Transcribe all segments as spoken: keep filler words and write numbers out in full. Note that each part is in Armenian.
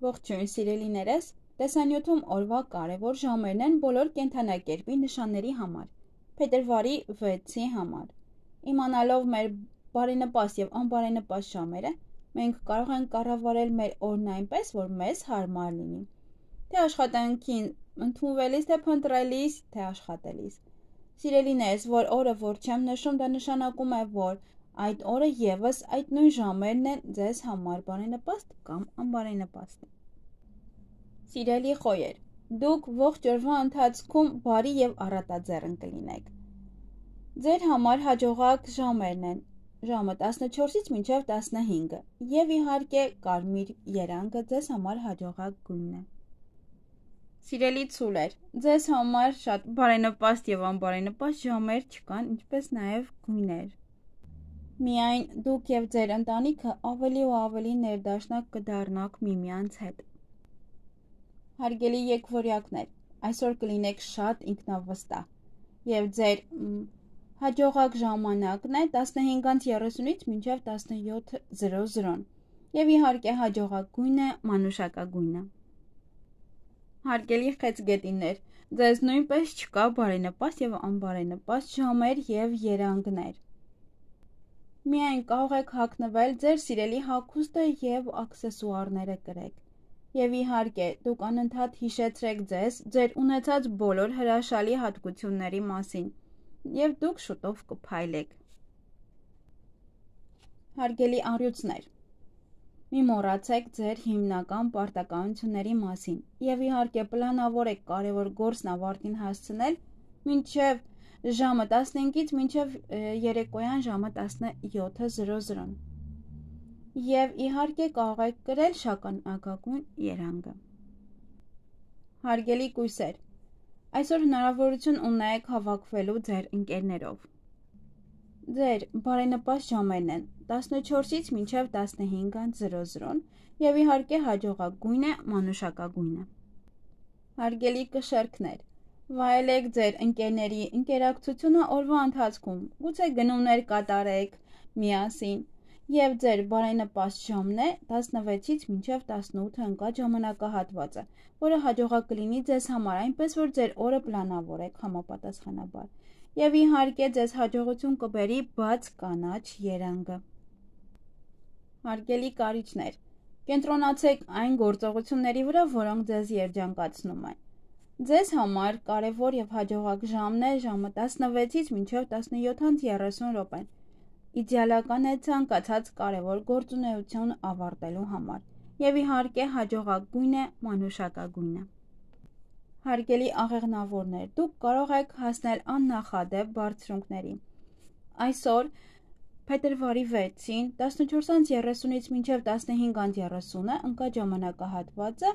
Ողջույն սիրելիներս, տեսանյութում օրվա կարևոր ժամերն են բոլոր կենդանակերպի նշանների համար, փետրվարի վեցի համար։ Իմանալով մեր բարենպաստ եւ անբարենպաստ ժամերը, մենք կարող ենք կառավարել մեր օրն այնպես, որ մեզ հարմար լինի, թե աշխատանքին ընդունվելիս, թե փնտրելիս, թե աշխատելիս։ Սիրելիներս, որ օրը որ չեմ նշում, դա նշանակում է, որ այդ օրը եւս այդ նույն ժամերն են ձեզ համար բարենպաստ կամ անբարենպաստ։ Սիրելի խոյեր, դուք ողջ օրվա ընթացքում բարի եւ առատաձեռն կլինեք։ Ձեր համար հաջողակ ժամերն են ժամը տասնչորսից մինչև տասնհինգը եւ իհարկե կարմիր երանգը ձեզ համար հաջողակ գույնն է։ Սիրելի ցուլեր, ձեզ համար շատ բարենպաստ եւ անբարենպաստ ժամեր չկան, ինչպես նաեւ գույներ։ Միայն դուք եւ ձեր ընտանիքը ավելի ու ավելի ներդաշնակ կդառնաք միմյանց հետ։ Հարգելի եկվորյակներ, այսօր կլինեք շատ ինքնավստահ եւ ձեր հաջողակ ժամանակն է տասնհինգից երեսունից մինչև տասնյոթ եւ իհարկե հաջողակ գույնը մանուշակագույնը։ Հարգելի խեցգետիններ, ձեզ նույնպես չկա բարենպաստ եւ անբարենպաստ ժամեր եւ երանգներ։ Միայն կարող եք հագնվել ձեր սիրելի հագուստը եւ աքսեսուարները կրեք։ Եվ իհարկե, դուք անընդհատ հիշեցրեք ձեզ ձեր ունեցած բոլոր հրաշալի հատկությունների մասին, եւ դուք շուտով կփայլեք։ Հարգելի առյուծներ, մի մոռացեք ձեր հիմնական պարտականությունների մասին եւ իհարկե պլանավորեք կարևոր գործն ավարտին հասցնել մինչեւ ժամը տասնհինգից մինչև երեկոյան ժամը տասնյոթ եւ իհարկե կարող եք կրել շագանակագույն երանգը։ Հարգելի կույսեր, այսօր հնարավորություն ունեք հավաքվելու ձեր ընկերներով։ Ձեր բարենպաստ ժամերն են տասնչորսից մինչև տասնհինգ եւ իհարկե հաջողակ գույնը մանուշակագույնը։ Հարգելի կշեռքներ, վայելեք ձեր ընկերների ինտերակցիոնը օրվա ընթացքում, գուցե գնումներ կատարեք միասին եւ ձեր բարենպաստ ժամն է տասնվեցից մինչև տասնութ ընկած ժամանակահատվածը, որը հաջողակ կլինի ձեզ համար, այնպես որ ձեր օրը պլանավորեք համապատասխանաբար եւ իհարկե ձեզ հաջողություն կբերի բաց կանաչ երանգը։ Հարգելի կարիճներ, կենտրոնացեք այն գործողությունների վրա, որոնք ձեզ երջանկացնում են։ Ձեզ համար կարևոր եւ հաջողակ ժամն է ժամը տասնվեցից մինչև տասնյոթ րոպեն։ Իդեալական է ցանկացած կարևոր գործունեություն ավարտելու համար եւ իհարկե հաջողակ գույնը մանուշակագույնը։ Հարգելի աղեղնավորներ, դուք կարող եք հասնել աննախադեպ բարձրունքների։ Այսօր փետրվարի վեցին տասնչորս երեսունից մինչև տասնհինգ երեսունը ընկած ժամանակահատվածը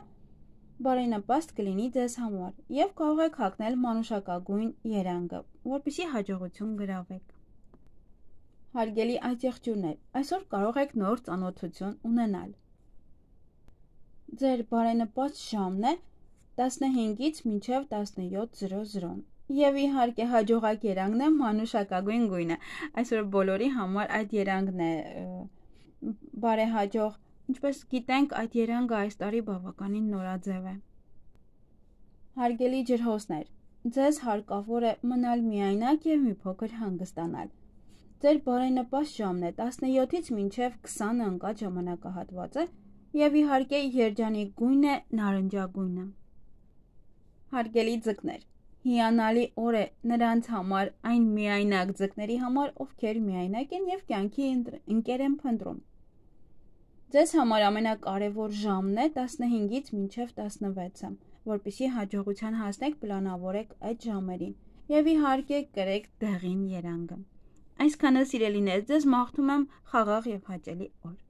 բարենպաստ կլինի ձեզ համար եւ կարող եք հագնել մանուշակագույն երանգը, որպեսզի հաջողություն գրավեք։ Հարգելի այծեղջյուրներ, այսօր կարող եք նոր ծանոթություն ունենալ։ Ձեր բարենպաստ ժամն է տասնհինգից մինչև տասնյոթ եւ իհարկե հաջողակ երանգն է մանուշակագույն գույնը։ Այսօր բոլորի համար այդ երանգն է բարեհաջող, ինչպես գիտենք, այդ երանգը այս տարի բավականին նորաձև է։ Հարգելի ջրհոսներ, ձեզ հարկավոր է մնալ միայնակ եւ մի փոքր հանգստանալ։ Ձեր բարենպաստ ժամն է տասնյոթից մինչև քսան ընկած ժամանակահատվածը եւ իհարկե երջանիկ գույնը նարնջագույնը։ Հարգելի ձկներ, հիանալի օր է նրանց համար, այն միայնակ ձկների համար, ովքեր միայնակ են եւ կյանքի ընկեր են փնտրում։ Ձեզ համար ամենակարևոր ժամն է տասնհինգից մինչև տասնվեցը, որպեսզի հաջողության հասնեք, պլանավորեք այդ ժամերին եւ իհարկե կրեք դեղին երանգը։ Այսքանը սիրելիներ, ձեզ մաղթում եմ խաղաղ եւ հաճելի օր։